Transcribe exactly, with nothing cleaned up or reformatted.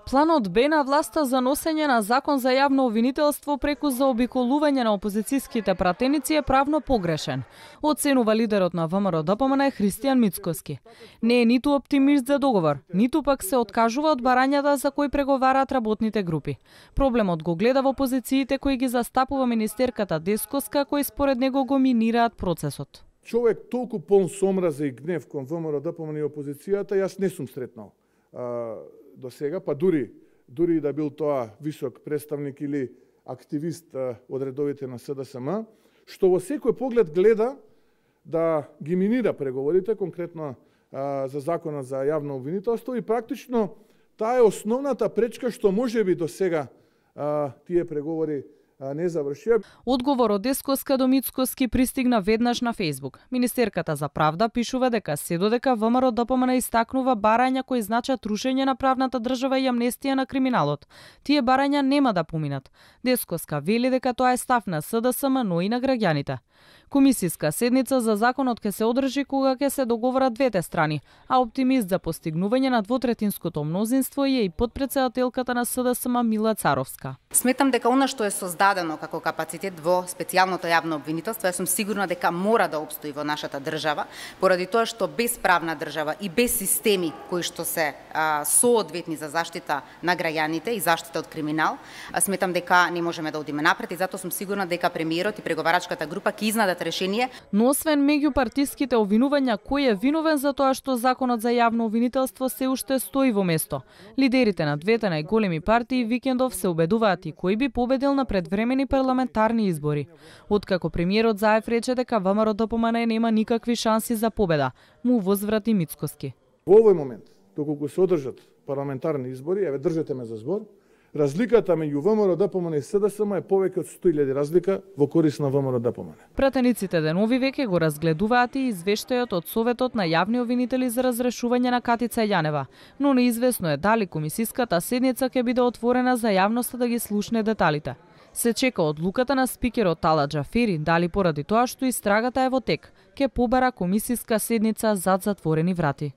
Планот Б на власта за носење на закон за јавно обвинителство преку заобиколување на опозицијските пратеници е правно погрешен, оценува лидерот на ВМРО-ДПМН Христијан Мицкоски. Не е ниту оптимист за договор, ниту пак се откажува од барањата за кои преговараат работните групи. Проблемот го гледа во позициите кои ги застапува министерката Дескоска, кои според него го минираат процесот. Човек толку полн сомраза и гнев кон ВМРО-ДПМН и опозицијата, јас не сум сретнал а, до сега, па дури дури да бил тоа висок представник или активист а, од редовите на СДСМ, што во секој поглед гледа да ги минира преговорите, конкретно а, за законот за јавно обвинителство, и практично таа е основната пречка што можеби до сега а, тие преговори не завршија. Одговор од Дескоска до Мицкоски пристигна веднаш на Фејсбук. Министерката за правда пишува дека се додека ВМРО-ДПМН истакнува барања кои значат рушење на правната држава и амнестија на криминалот. Тие барања нема да поминат. Дескоска вели дека тоа е став на СДСМ, но и на граѓаните. Комисиска седница за законот ќе се одржи кога ќе се договорат двете страни, а оптимист за постигнување на двотретинското мнозинство е и подпредседателката на СДСМ Мила Царовска. Сметам дека она што е создадено како капацитет во специјалното јавно обвинителство, јас сум сигурна дека мора да опстои во нашата држава, поради тоа што без правна држава и без системи кои што се а, соодветни за заштита на граѓаните и заштита од криминал, а, сметам дека не можеме да одиме напред, и затоа сум сигурна дека премиерот и преговарачката група ќе изнадат решение. Но освен меѓупартиските обвинувања, кој е виновен за тоа што законот за јавно обвинителство се уште стои во место? Лидерите на двете најголеми партии викендов се убедуваат и кој би победил на предвремени парламентарни избори. Откако премиерот Заев рече дека ВМРО-ДПМН нема никакви шанси за победа, му возврати Мицкоски. Во овој момент, доколку се одржат парламентарни избори, еве држете ме за збор, разликата меѓу ВМРО-ДПМН и СДСМ е повеќе од сто илјади разлика во корис на ВМРО-ДПМН. Пратениците денови веќе го разгледуваат и извештајот од Советот на јавни обвинители за разрешување на Катица Јанева, но неизвестно е дали комисиската седница ќе биде отворена за јавноста да ги слушне деталите. Се чека одлуката на спикерот Тала Џафери дали поради тоа што истрагата е во тек, ќе побара комисиска седница зад затворени врати.